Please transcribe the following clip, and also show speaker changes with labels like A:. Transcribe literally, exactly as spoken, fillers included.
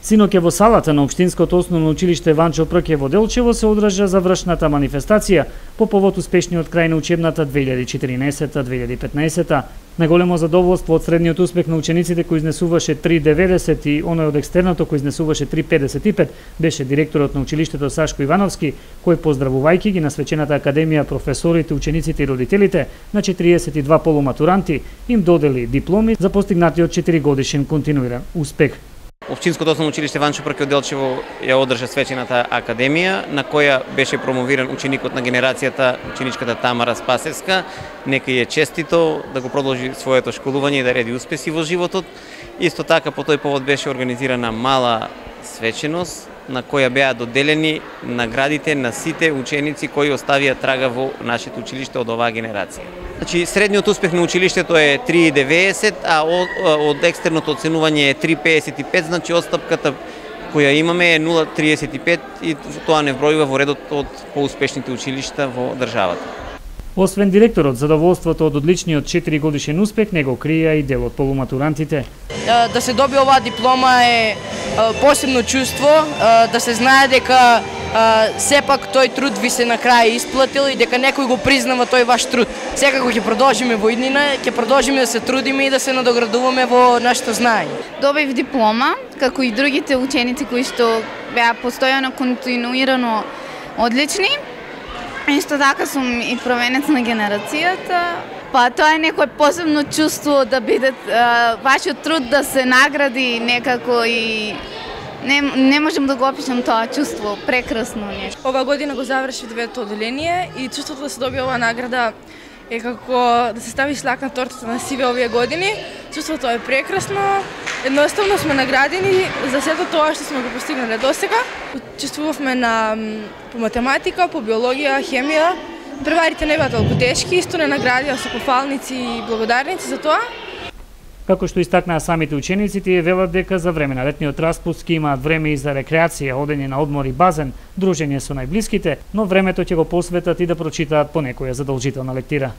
A: Синоќа во салата на Општинското основно училиште Ванчо Прке во Делчево се одржа завршната манифестација по повод успешниот крај на учебната две илјади и четиринаесета две илјади и петнаесета. Најголемо задоволство од средниот успех на учениците кој изнесуваше три деведесет и оној од екстерното кој изнесуваше три педесет и пет беше директорот на училиштето Сашко Ивановски, кој поздравувајќи ги на свечената академија, професорите, учениците и родителите на четириесет и два полуматуранти, им додели дипломи за постигнатиот четиригодишен континуиран успех.
B: Општинското основно училиште Ванчо Прке од Делчево ја одржа свечената академија, на која беше промовиран ученикот на генерацијата, ученичката Тамара Спасевска. Нека ја честито да го продолжи своето школување и да реди успеси во животот. Исто така по тој повод беше организирана мала свеченост на која беа доделени наградите на сите ученици кои оставија трага во нашето училиште од оваа генерација. Значи, средниот успех на училиштето е три деведесет, а од, од екстерното оценување е три педесет и пет, значи отстапката која имаме е нула триесет и пет и тоа не вбројува во редот од поуспешните училишта во државата.
A: Освен директорот, задоволството од одличниот четиригодишен успех не го крија и дел од полуматурантите.
C: Да се доби оваа диплома е посебно чувство, да се знае дека сепак тој труд ви се на крај исплатил и дека некој го признава тој ваш труд. Секако ќе продолжиме во иднина, ќе продолжиме да се трудиме и да се надоградуваме во нашето знаење.
D: Добив диплома, како и другите ученици кои што беа постојано континуирано одлични. Исто така сум и провенец на генерацијата. Па тоа е некој посебно чувство да биде вашиот труд да се награди некако и не, не можем да го опишам тоа чувство, прекрасно нешто.
E: Ова година го заврши девето оделение и чувството да се добие оваа награда е како да се стави шлак на тортата на сиве овие години. Чувството е прекрасно. Едноставно сме наградени за сето тоа што сме го постигнале досега. Учествувавме на по математика, по биологија, хемија. Преварите не беа толку тешки, исто не наградија со пофалници и благодарници за тоа.
A: Како што истакнаа самите ученици, тие велат дека за време на летниот распуст ќе имаат време и за рекреација, одење на одмор и базен, дружење со најблиските, но времето ќе го посветат и да прочитаат по некоја задолжителна лектира.